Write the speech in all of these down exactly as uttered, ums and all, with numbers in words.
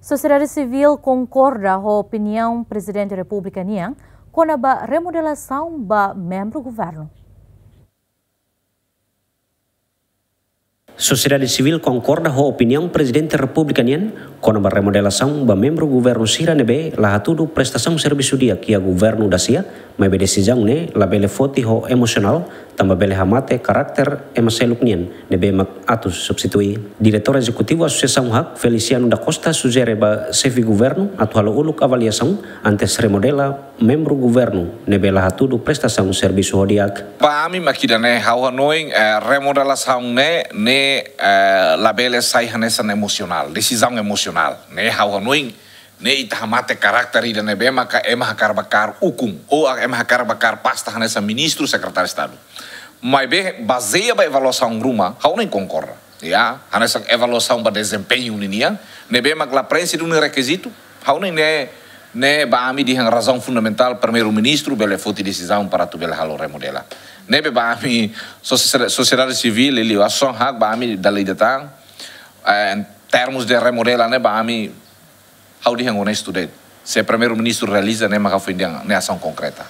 Sosiedade sivíl konkorda ho opiniaun Prezidente Repúblika nian kona-ba remodelasaun ba membru governu. Sosiedade sivíl konkorda ho opiniaun Prezidente Repúblika nian kona-ba remodelasaun ba membru governu sira ne'ebé la hatudu prestasaun servisu di'ak iha governu dasia, maibé desizaun ne'e labele foti ho emosionál, tanba bele hamate karakter ema seluk nian ne'ebé mak atu substitui. Diretór Ezekutivu Asosiasaun hak, Feliciano da Costa, sujere ba xefe governu atu halo uluk avaliasaun antes remodela membru governu ne'ebé la hatudu prestasaun servisu ho di'ak. Ba ami mak ida-ne'e, ha'u hanoin, eh, remodelasaun ne'e, ne'e, eh, labele sai hanesan emosionál, desizaun emosionál. Ne'e ha'u hanoin, ne'e ita hamate karakter ida ne'ebé maka ema hakarak ba kaer ukun, ou ema hakarak ba kaer pasta hanesan ministru, sekretáriu Estadu. Maibé, bazeia ba avaliasaun ruma, ha'u hanoin konkorda. Ya, hanesan avaliasaun ba dezempeñu ninian, ne'ebé mak la preenxe duni rekizitu, ha'u hanoin ne'e, ne'e ba ami dehan razaun fundamentál Primeiru-Ministru bele foti desizaun para atu bele halo remodela. Ne'ebé ba ami sosie-, sosiedade sivíl, liuliu asosiasaun hak ba ami dala ida tan, eh, em termos de remodela ne'e ba ami, ha'u dehan onestu de'it. Se Primeiru-Ministru realiza, ne'e maka foin dehan, ne'e asaun konkreta.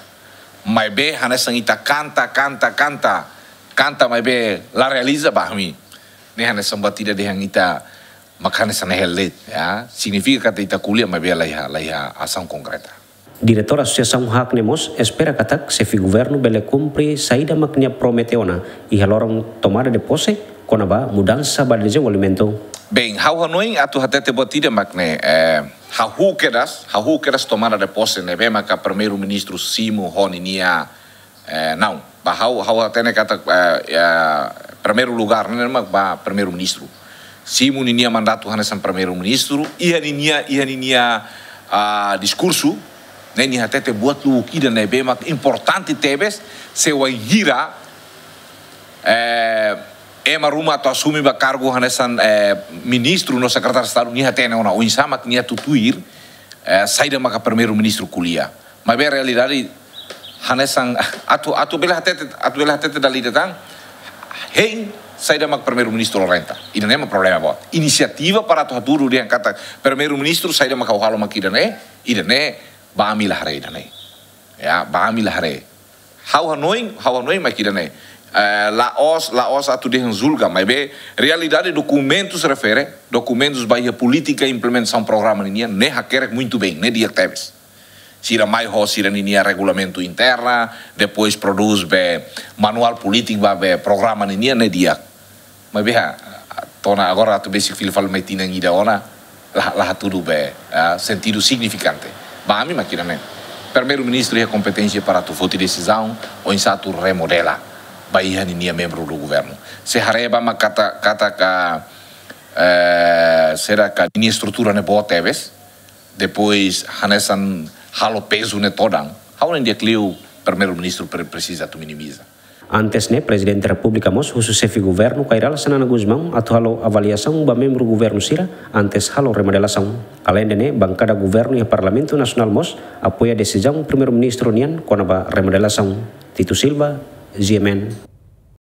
Maibé hanesan ita kanta, kanta, kanta, kanta maibé la realiza, ba ami, ne'e hanesan buat ida dehan ita mak hanesan ne'e hela de'it, ya. Signifika katak ita ko'alia maibé la iha, la iha asaun konkreta. Diretór Asosiasaun hak ne'e mós espera katak xefe governu bele kumpre saida mak nia promete ona iha loron tomada de pose kona-ba mudansa ba dezenvolvimentu. Bem, ha'u hanoin atu hatete buat ida mak ne'e, eh, hahú kedas, hahú kedas tomada de pose ne'ebé maka Primeiru-Ministru simu ho ninia, eh, não, ba ha'u, ha'u hatene katak, eh, ya, primeiru lugár ne'e mak ba Primeiru-Ministru. Simu ninia mandatu hanesan Primeiru-Ministru, iha ninia, iha ninia, ah, diskursu, ne'e nia hatete buat luwuk ida ne'ebé mak importante tebes, se wainhira, eh, ema ruma atu asume ba kargu hanesan, eh, ministru no sekretáriu Estadu, nia hatene ona oinsá mak nia atu tuir, eh, saida maka Primeiru-Ministru ko'alia. Maibé realidade hanesan atu, atu bele hatete, atu bele hatete dala ida tan, hein saida mak Primeiru-Ministru orienta. Ida-ne'e mak problema boot. Inisiativa para atu hatudu dehan katak Primeiru-Ministru saida mak ha'u halo mak ida-ne'e, ida-ne'e ba ami la haree ida-ne'e. Ya, ba ami la haree. Ha'u hanoin, ha'u hanoin mak ida-ne'e. Eh, la'ós, la'ós atu dehan julga, maibé realidade dokumentus refere, dokumentus ba iha polítika implementasaun programa ninian, ne'e hakerek muito bem, ne'e di'ak tebes. Sira mai ho sira ninia regulamentu interna, depois prodús be manuál polítiku ba be programa ninian, ne'e di'ak. Maibé, ah, to'o ona agora atu besik fila fali mai tinan ida ona, la, la hatudu be, ah, sentidu signifikante. Ba ami mak ida-ne'e. Primeiru-Ministru iha kompeténsia para atu foti desizaun, oinsá atu remodela ba iha ninia membru do governu. Se haree ba mak katak, katak, eh, será que ninia estrutura ne'e boot tebes, depois hanesan halo pezu ne'e todan, ha'u hanoin di'ak liu Primeiru-Ministru pre-, presiza atu minimiza. Antes ne'e, Prezidente Repúblika mós husu xefe governu Kay Rala Xanana Gusmão atu halo avaliasaun ba membru governu sira antes halo remodelasaun. Aleinde ne'e, bankada governu iha Parlamentu Nasionál mós apoia desizaun Primeiru-Ministru nian kona-ba remodelasaun. Tito Silva, G M N.